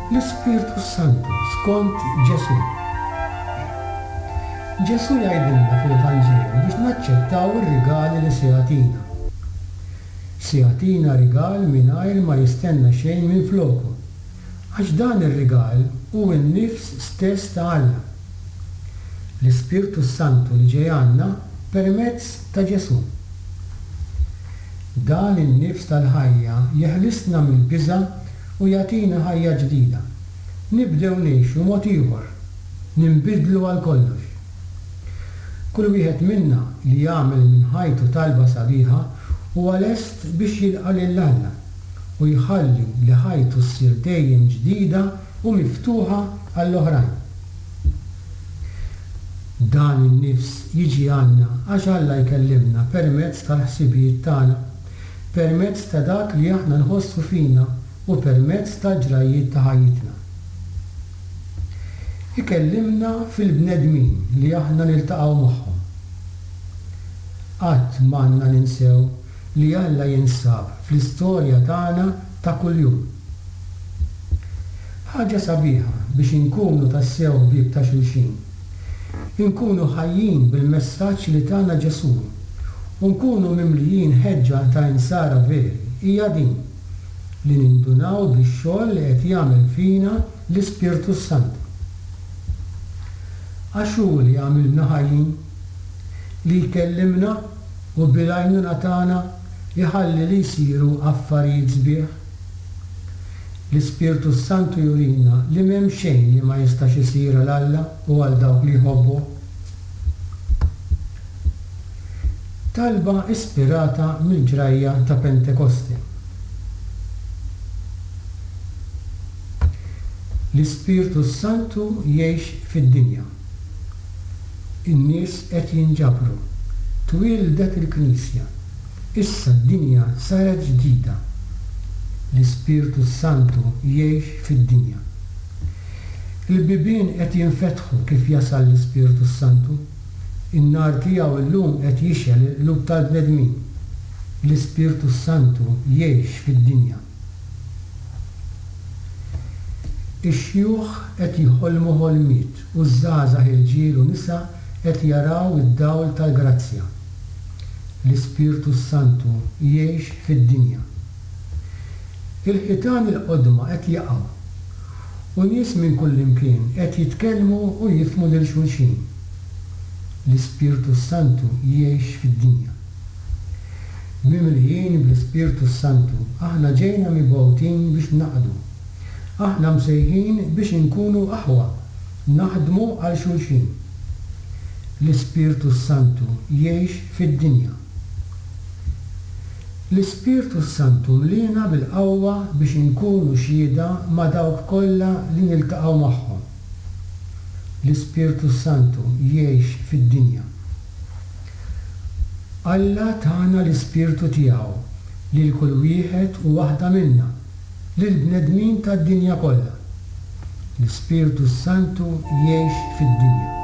L-Ispirtu s-Santu skont Ġesù. Ġesù jgħidilna fil-Vanġelu biex naċċettaw ir-rigali li se jagħtina. Se jagħtina rigal mingħajr ma jistenna xejn minfloku, għax dan ir-rigal hu n-nifs stess ta' Alla. L-Ispirtu s-Santu li ġej għandna permezz ta' Ġesù. Dan in-nifs tal-ħajja jeħlisna mill-biża' u jagħtina ħajja ġdida. Nibdew ngħixu mod ieħor. Ninbidlu għal kollox. Kull wieħed minna li jagħmel minn ħajtu talba sabiħa huwa lest biex jilqa' lil Alla u jħalli li ħajtu ssir dejjem ġdida u miftuħa għall-oħrajn. Dan in-nifs jiġi għandna għax Alla jkellimna permezz tal-ħsibijiet tagħna, permezz ta' dak li aħna nħossu fina u permezz tal-ġrajjiet ta' ħajjitna. Ikellimna fil-bnedmin li aħna niltaqgħu magħhom. Qatt m'għandna ninsew li Alla jinsab fl-istorja tagħna ta' kuljum. Ħaġa sabiħa biex inkunu tassew ħbieb ta' xulxin. Inkunu ħajjin bil-messaġġ li tana Ġesù u nkunu mimlijin ħeġġa ta' insara veri hija din, li nindunaw bix-xogħol li qed jagħmel fina l-Ispirtu s-Santu. Għax hu li jagħmilna ħajjin, li jkellimna u bil-għajnuna tagħna jħalli li jsiru affarijiet sbieħ. L-Ispirtu s-Santu jurina li m'hemm xejn li ma jistax isir għal Alla u għal dawk li jħobbuh. Talba ispirata mill-ġrajja ta' Pentekoste. L-Ispirtu s-Santu jgħix fid-dinja. In-nies qed jinġabru. Twieldet il-Knisja. Issa d-dinja saret ġdida. L-Ispirtu s-Santu jgħix fid-dinja. Il-bibien qed jinfetħu kif jasal l-Ispirtu s-Santu. In-nar tiegħu llum qed jixgħel il-qlub tal-bnedmin. L-Ispirtu s-Santu jgħix fid-dinja. Ix-xjuħ qed jħolmu ħolmiet u ż-żgħażagħ irġiel u nisa qed jaraw id-dawl tal-grazzja. L-Ispirtu s-Santu jgħix fid-dinja. Il-ħitan il-qodma qed jaqgħu, u nies minn kullimkien qed jitkellmu u jifhmu lil xulxin. L-Ispirtu s-Santu jgħix fid-dinja. Mimlijin bl-Ispirtu s-Santu, aħna ġejna mibgħutin biex naqdu. Aħna msejħin biex inkunu aħwa, naħdmu għal xulxin. L-Ispirtu s-Santu jgħix fid-dinja. L-Ispirtu s-Santu mliena bil-qawwa biex inkunu xhieda ma' dawk kollha li niltaqgħu magħhom. L-Ispirtu s-Santu jgħix fid-dinja. Alla tana l-Ispirtu tiegħu lil kull wieħed u waħda minna, lill-bnedmin tad-dinja kollha. L-Ispirtu s-Santu jgħix fid-dinja.